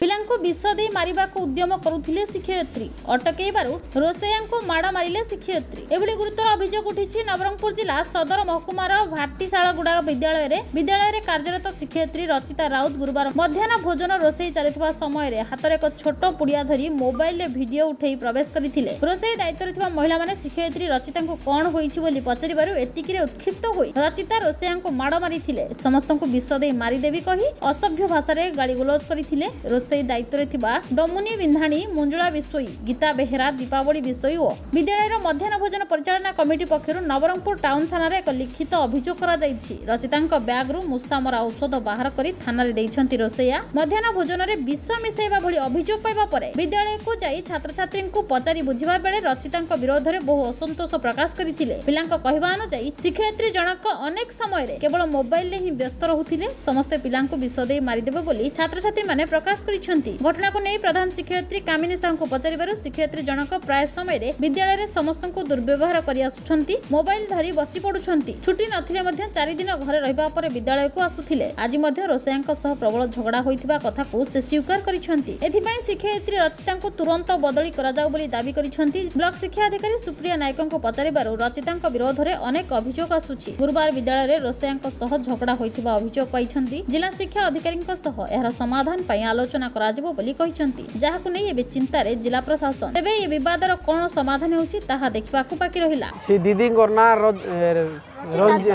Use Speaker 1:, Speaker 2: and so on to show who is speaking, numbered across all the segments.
Speaker 1: ପିଲାଙ୍କୁ ବିଷ ଦେଇ ମାରିବାକୁ ଉଦ୍ୟମ କରୁଥିଲେ ଶିକ୍ଷୟିତ୍ରୀ। ଅଟକେଇବାରୁ ରୋଷେଇଆଙ୍କୁ ମାଡ଼ ମାରିଲେ ଶିକ୍ଷୟିତ୍ରୀ। ଏଭଳି ଗୁରୁତର ଅଭିଯୋଗ ଉଠିଛି ନବରଙ୍ଗପୁର ଜିଲ୍ଲା ସଦର ମହକୁମାର ଭାଟିଶାଳଗୁଡ଼ା ବିଦ୍ୟାଳୟରେ। ବିଦ୍ୟାଳୟରେ କାର୍ଯ୍ୟରତ ଶିକ୍ଷୟିତ୍ରୀ ରଚିତା ରାଉତ ଗୁରୁବାର ମଧ୍ୟାହ୍ନ ଭୋଜନ ରୋଷେଇ ଚାଲିଥିବା ସମୟରେ ହାତରେ ଏକ ଛୋଟ ପୁଡ଼ିଆ ଧରି ମୋବାଇଲରେ ଭିଡିଓ ଉଠାଇ ପ୍ରବେଶ କରିଥିଲେ। ରୋଷେଇ ଦାୟିତ୍ୱରେ ଥିବା ମହିଳାମାନେ ଶିକ୍ଷୟିତ୍ରୀ ରଚିତାଙ୍କୁ କଣ ହୋଇଛି ବୋଲି ପଚାରିବାରୁ ଏତିକିରେ ଉତ୍କ୍ଷିପ୍ତ ହୋଇ ରଚିତା ରୋଷେଇଆଙ୍କୁ ମାଡ଼ ମାରିଥିଲେ। ସମସ୍ତଙ୍କୁ ବିଷ ଦେଇ ମାରିଦେବି କହି ଅସଭ୍ୟ ଭାଷାରେ ଗାଳିଗୁଲଜ କରିଥିଲେ। ରୋଷେଇ ଦାୟିତ୍ୱରେ ଥିବା ଡମୁନି ବିନ୍ଧାଣୀ, ମଞ୍ଜୁଳା ବିଷୋଇ, ଗୀତା ବେହେରା, ଦୀପାବଳି ବିଷୋଇ ଓ ବିଦ୍ୟାଳୟର ମଧ୍ୟାହ୍ନ ଭୋଜନ ପରିଚାଳନା କମିଟି ପକ୍ଷରୁ ନବରଙ୍ଗପୁର ଟାଉନ ଥାନାରେ ଏକ ଲିଖିତ ଅଭିଯୋଗ କରାଯାଇଛି। ରଚିତାଙ୍କ ବ୍ୟାଗରୁ ମୂଷାମରା ଔଷଧ ବାହାର କରି ଥାନାରେ ଦେଇଛନ୍ତି ରୋଷେଇଆ। ମଧ୍ୟାହ୍ନ ଭୋଜନରେ ବିଷ ମିଶାଇବା ଭଳି ଅଭିଯୋଗ ପାଇବା ପରେ ବିଦ୍ୟାଳୟକୁ ଯାଇ ଛାତ୍ରଛାତ୍ରୀଙ୍କୁ ପଚାରି ବୁଝିବା ବେଳେ ରଚିତାଙ୍କ ବିରୋଧରେ ବହୁ ଅସନ୍ତୋଷ ପ୍ରକାଶ କରିଥିଲେ। ପିଲାଙ୍କ କହିବା ଅନୁଯାୟୀ ଶିକ୍ଷୟିତ୍ରୀ ଜଣକ ଅନେକ ସମୟରେ କେବଳ ମୋବାଇଲରେ ହିଁ ବ୍ୟସ୍ତ ରହୁଥିଲେ। ସମସ୍ତେ ପିଲାଙ୍କୁ ବିଷ ଦେଇ ମାରିଦେବେ ବୋଲି ଛାତ୍ରଛାତ୍ରୀମାନେ ପ୍ରକାଶ କରିଛନ୍ତି। ଘଟଣାକୁ ନେଇ ପ୍ରଧାନ ଶିକ୍ଷୟିତ୍ରୀ କାମିନୀ ସାହୁଙ୍କୁ ପଚାରିବାରୁ ଶିକ୍ଷୟିତ୍ରୀ ଜଣକ ପ୍ରାୟ ସମୟରେ ବିଦ୍ୟାଳୟରେ ସମସ୍ତଙ୍କୁ ଦୁର୍ବ୍ୟବହାର କରି ଆସୁଛନ୍ତି, ମୋବାଇଲ ଧରି ବସି ପଡୁଛନ୍ତି। ଛୁଟି ନଥିଲେ ମଧ୍ୟ 4 ଦିନ ଘରେ ରହିବା ପରେ ବିଦ୍ୟାଳୟକୁ ଆସୁଥିଲେ। ଆଜି ମଧ୍ୟ ରୋଷେଇଆଙ୍କ ସହ ପ୍ରବଳ ଝଗଡ଼ା ହୋଇଥିବା କଥାକୁ ସେ ସ୍ୱୀକାର କରିଛନ୍ତି। ଏଥିପାଇଁ ଶିକ୍ଷୟିତ୍ରୀ ରଚିତାଙ୍କୁ ତୁରନ୍ତ ବଦଳି କରାଯାଉ ବୋଲି ଦାବି କରିଛନ୍ତି। ବ୍ଲକ ଶିକ୍ଷା ଅଧିକାରୀ ସୁପ୍ରିୟା ନାୟକଙ୍କୁ ପଚାରିବାରୁ ରଚିତାଙ୍କ ବିରୋଧରେ ଅନେକ ଅଭିଯୋଗ ଆସୁଛି। ଗୁରୁବାର ବିଦ୍ୟାଳୟରେ ରୋଷେଇଆଙ୍କ ସହ ଝଗଡ଼ା ହୋଇଥିବା ଅଭିଯୋଗ ପାଇଛନ୍ତି। ଜିଲ୍ଲା ଶିକ୍ଷା ଅଧିକାରୀଙ୍କ ସହ ଏହାର ସମାଧାନ ପାଇଁ ଆଲୋଚନା କରାଯିବ ବୋଲି କହିଛନ୍ତି, ଯାହାକୁ ନେଇ ଏବେ ଚିନ୍ତାରେ ଜିଲ୍ଲା ପ୍ରଶାସନ। ତେବେ ଏ ବିବାଦର କଣ ସମାଧାନ ହେଉଛି ତାହା ଦେଖିବାକୁ ବାକି ରହିଲା।
Speaker 2: ସେ ଦିଦିଙ୍କର ନାଁ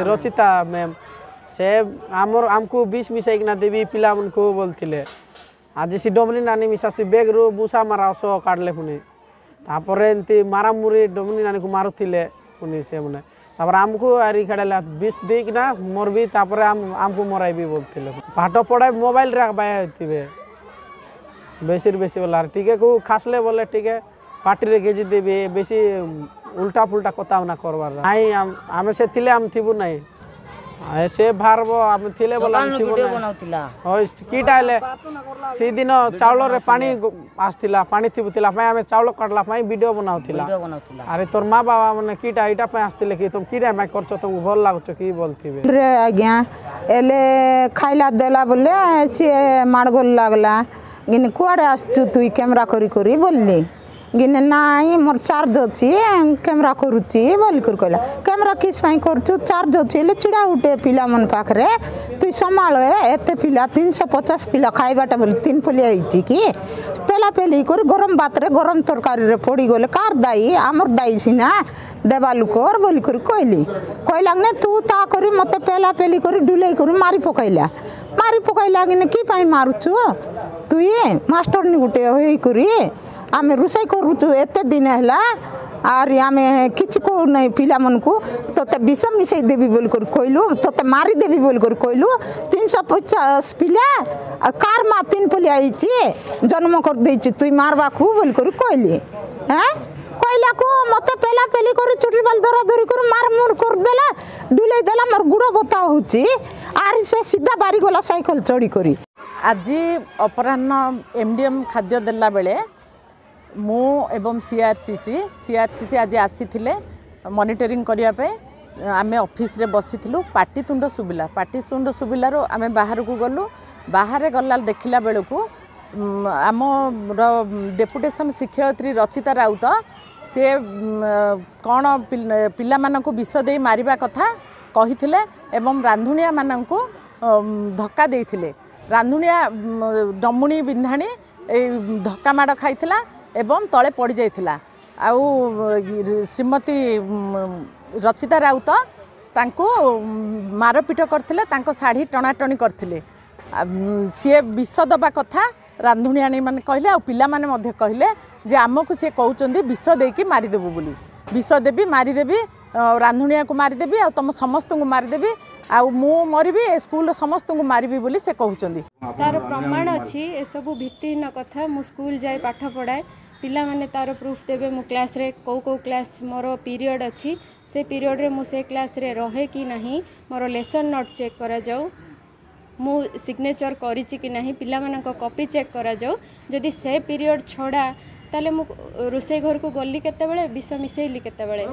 Speaker 2: ରଚିତା ମ୍ୟାମ୍। ସେ ଆମର ଆମକୁ ବିଷ ମିଶାଇକିନା ଦେବି ପିଲାମାନଙ୍କୁ ବୋଲୁଥିଲେ। ଆଜି ସେ ଡମନି ନାନୀ ମିଶା ସେ ବେଗ୍ରୁ ମୂଷା ମାରା ଔଷଧ କାଢ଼ିଲେ। ପୁଣି ତାପରେ ଏମିତି ମାରାମୁରି ଡମନି ନାନୀକୁ ମାରୁଥିଲେ। ପୁଣି ସେମାନେ ତାପରେ ଆମକୁ ଆରି ଖେଳାଇଲା, ବିଷ ଦେଇକିନା ମରବି, ତାପରେ ଆମକୁ ମରାଇବି ବୋଲୁଥିଲେ। ପାଠ ପଢ଼ାଇ ମୋବାଇଲରେ ବାୟା ହେଇଥିବେ ବେଶୀରୁ ବେଶୀ ବୋଲା। ଟିକେ କେଉଁ ଖାସଲେ ବୋଲେ ଟିକେ ପାଟିରେ ଗେଜି ଦେବେ, ବେଶୀ ଉଲ୍ଟା ଫୁଲ୍ଟା କଥା ନା କରବାର ନାଇଁ। ଆମେ ସେ ଥିଲେ ଆମେ ଥିବୁ ନାହିଁ, ସେ ବାହାରବ, ଆମେ ଥିଲେ ବୋଲେ ଆମେ ଥିବୁ। କିଟା ହେଲେ ସେଦିନ ଚାଉଳରେ ପାଣି ଆସିଥିଲା, ପାଣି ଥିବୁଥିଲା ପାଇଁ ଆମେ ଚାଉଳ କାଟିଲା ପାଇଁ ଭିଡ଼ିଓ ବନାଉଥିଲା। ଆରେ ତୋର ମା ବାବା ମାନେ କିଟା ଏଇଟା ପାଇଁ ଆସିଥିଲେ କି? ତମେ କିଟା ପାଇଁ କରୁଛ, ତମକୁ ଭଲ ଲାଗୁଛ କି ବୋଲଥିବେ
Speaker 3: ଆଜ୍ଞା। ହେଲେ ଖାଇଲା ଦେଲା ବୋଲେ ସିଏ ମାଡ଼ଗୋଲ ଲାଗଲା। ଗିନେ କୁଆଡ଼େ ଆସିଛୁ ତୁଇ କ୍ୟାମେରା କରି କରି ବୋଲିଲି। ଗିନେ ନାଇଁ, ମୋର ଚାର୍ଜ ଅଛି, କ୍ୟାମେରା କରୁଛି ବୋଲିକରି କହିଲା। କ୍ୟାମେରା କିସ୍ ପାଇଁ କରୁଛୁ? ଚାର୍ଜ ଅଛି ହେଲେ ଛିଡ଼ା ଗୋଟେ ପିଲାମାନ ପାଖରେ ତୁଇ ସମ୍ଭାଳ। ଏତେ ପିଲା, 350 ପିଲା ଖାଇବାଟା ବୋଲି ତିନି ପଲିଆ ହେଇଛି କି? ପେଲା ପେଲି କରି ଗରମ ଭାତରେ ଗରମ ତରକାରୀରେ ପଡ଼ିଗଲେ କାହାର ଦାୟୀ? ଆମର ଦାୟୀ ସିନା ଦେବା ଲୋକର ବୋଲିକରି କହିଲି। କହିଲା ନେ ତୁ ତା କରି ମୋତେ ପେଲା ପେଲି କରି ଡୁଲେଇ କରି ମାରି ପକାଇଲା। ମାରି ପକାଇଲା। କିନେ କି ପାଇଁ ମାରୁଛୁ ତୁଇ? ମାଷ୍ଟରନି ଗୋଟେ ହେଇକରି ଆମେ ରୋଷେଇ କରୁଛୁ ଏତେ ଦିନ ହେଲା, ଆରି ଆମେ କିଛି କହୁନାହିଁ ପିଲାମାନଙ୍କୁ। ତୋତେ ବିଷ ମିଶାଇ ଦେବି ବୋଲି କରି କହିଲୁ, ତୋତେ ମାରିଦେବି ବୋଲି କରି କହିଲୁ। 350 ପିଲା କାର ମା ତିନି ପଲିଆ ହେଇଛି, ଜନ୍ମ କରିଦେଇଛି ତୁଇ ମାରବାକୁ ବୋଲି କରି କହିଲି। ହେଁ କହିଲାକୁ ମୋତେ ପେଲା ପେଲି କରି ଚୁଟି ବାଲ ଧରା ଧରି କରି ମାର ମୁର କରିଦେଲା, ଡୁଲେଇ ଦେଲା। ମୋର ଗୁଡ଼ ବଥା ହେଉଛି। ଆରି ସେ ସିଧା ବାରିଗଲା ସାଇକେଲ ଚଢ଼ି କରି।
Speaker 4: ଆଜି ଅପରାହ୍ନ ଏମ୍ ଡି ଏମ୍ ଖାଦ୍ୟ ଦେଲା ବେଳେ ମୁଁ ଏବଂ ସିଆର୍ସିସି ଆଜି ଆସିଥିଲେ ମନିଟରିଂ କରିବା ପାଇଁ। ଆମେ ଅଫିସରେ ବସିଥିଲୁ, ପାଟିତୁଣ୍ଡ ଶୁଭିଲା। ପାଟିତୁଣ୍ଡ ଶୁଭିଲାରୁ ଆମେ ବାହାରକୁ ଗଲୁ। ବାହାରେ ଗଲା ଦେଖିଲା ବେଳକୁ ଆମର ଡେପୁଟେସନ୍ ଶିକ୍ଷୟିତ୍ରୀ ରଚିତା ରାଉତ ସେ କ'ଣ ପିଲାମାନଙ୍କୁ ବିଷ ଦେଇ ମାରିବା କଥା କହିଥିଲେ ଏବଂ ରାନ୍ଧୁଣିଆମାନଙ୍କୁ ଧକ୍କା ଦେଇଥିଲେ। ରାନ୍ଧୁଣିଆ ଡମୁଣି ବିନ୍ଧାଣୀ ଏଇ ଧକ୍କା ମାଡ଼ ଖାଇଥିଲା ଏବଂ ତଳେ ପଡ଼ିଯାଇଥିଲା। ଆଉ ଶ୍ରୀମତୀ ରଚିତା ରାଉତ ତାଙ୍କୁ ମାରପିଟ କରିଥିଲେ, ତାଙ୍କ ଶାଢ଼ୀ ଟଣାଟଣି କରିଥିଲେ। ସିଏ ବିଷ ଦେବା କଥା ରାନ୍ଧୁଣିଆଣୀ ମାନେ କହିଲେ, ଆଉ ପିଲାମାନେ ମଧ୍ୟ କହିଲେ ଯେ ଆମକୁ ସିଏ କହୁଛନ୍ତି ବିଷ ଦେଇକି ମାରିଦେବୁ ବୋଲି, ବିଷ ଦେବି, ମାରିଦେବି, ରାନ୍ଧୁଣିଆକୁ ମାରିଦେବି, ଆଉ ତୁମ ସମସ୍ତଙ୍କୁ ମାରିଦେବି, ଆଉ ମୁଁ ମରିବି, ଏ ସ୍କୁଲର ସମସ୍ତଙ୍କୁ ମାରିବି ବୋଲି ସେ କହୁଛନ୍ତି।
Speaker 5: ତାର ପ୍ରମାଣ ଅଛି। ଏସବୁ ଭିତ୍ତିହୀନ କଥା। ମୁଁ ସ୍କୁଲ ଯାଇ ପାଠ ପଢ଼ାଏ, ପିଲାମାନେ ତାର ପ୍ରୁଫ୍ ଦେବେ। ମୁଁ କ୍ଲାସ୍ରେ କେଉଁ କେଉଁ କ୍ଲାସ୍ ମୋର ପିରିୟଡ଼ ଅଛି, ସେ ପିରିୟଡ଼ରେ ମୁଁ ସେ କ୍ଲାସ୍ରେ ରହେ କି ନାହିଁ, ମୋର ଲେସନ୍ ନୋଟ୍ ଚେକ୍ କରାଯାଉ, ମୁଁ ସିଗ୍ନେଚର୍ କରିଛି କି ନାହିଁ, ପିଲାମାନଙ୍କ କପି ଚେକ୍ କରାଯାଉ। ଯଦି ସେ ପିରିୟଡ଼ ଛଡ଼ା, ତାହେଲେ ମୁଁ ରୋଷେଇ ଘରକୁ ଗଲି କେତେବେଳେ, ବିଷ ମିଶାଇଲି କେତେବେଳେ?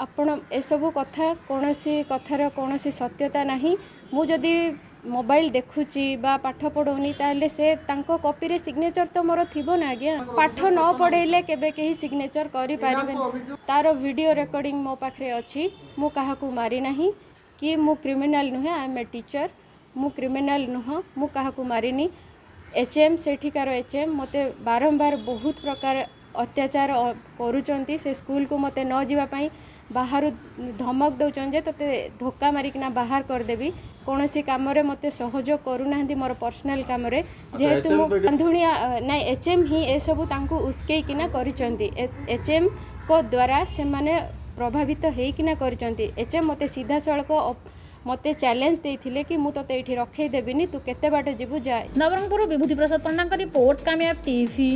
Speaker 5: ଆପଣ ଏସବୁ କଥା, କୌଣସି କଥାର କୌଣସି ସତ୍ୟତା ନାହିଁ। ମୁଁ ଯଦି ମୋବାଇଲ ଦେଖୁଛି ବା ପାଠ ପଢ଼ଉନି, ତାହେଲେ ସେ ତାଙ୍କ କପିରେ ସିଗ୍ନେଚର ତ ମୋର ଥିବ ନା ଆଜ୍ଞା। ପାଠ ନ ପଢ଼େଇଲେ କେବେ କେହି ସିଗ୍ନେଚର କରିପାରିବେନି। ତାର ଭିଡ଼ିଓ ରେକର୍ଡ଼ିଂ ମୋ ପାଖରେ ଅଛି। ମୁଁ କାହାକୁ ମାରିନାହିଁ କି ମୁଁ କ୍ରିମିନାଲ ନୁହେଁ। I M A teacher, ମୁଁ କ୍ରିମିନାଲ ନୁହଁ, ମୁଁ କାହାକୁ ମାରିନି। ଏଚ୍ ଏମ୍, ସେଠିକାର ଏଚ୍ ଏମ୍ ମୋତେ ବାରମ୍ବାର ବହୁତ ପ୍ରକାର ଅତ୍ୟାଚାର କରୁଛନ୍ତି। ସେ ସ୍କୁଲକୁ ମୋତେ ନ ଯିବା ପାଇଁ ବାହାରୁ ଧମକ ଦେଉଛନ୍ତି ଯେ ତୋତେ ଧୋକା ମାରିକିନା ବାହାର କରିଦେବି। କୌଣସି କାମରେ ମୋତେ ସହଯୋଗ କରୁନାହାନ୍ତି ମୋର ପର୍ସନାଲ କାମରେ। ଯେହେତୁ ମୁଁ ରାନ୍ଧୁଣିଆ, ନାଇଁ, ଏଚ୍ ଏମ୍ ହିଁ ଏସବୁ ତାଙ୍କୁ ଉସ୍କେଇକିନା କରିଛନ୍ତି। ଏଚ୍ ଏମ୍ଙ୍କ ଦ୍ୱାରା ସେମାନେ ପ୍ରଭାବିତ ହେଇକିନା କରିଛନ୍ତି। ଏଚ୍ ଏମ୍ ମୋତେ ସିଧାସଳଖ ମୋତେ ଚ୍ୟାଲେଞ୍ଜ ଦେଇଥିଲେ କି ମୁଁ ତୋତେ ଏଇଠି ରଖେଇ ଦେବିନି, ତୁ କେତେ ବାଟ ଯିବୁ ଯା।
Speaker 1: ନବରଙ୍ଗପୁର ବିଭୂତି ପ୍ରସାଦ ପଣ୍ଡାଙ୍କ ରିପୋର୍ଟ, କାମିୟାବ ଟିଭି।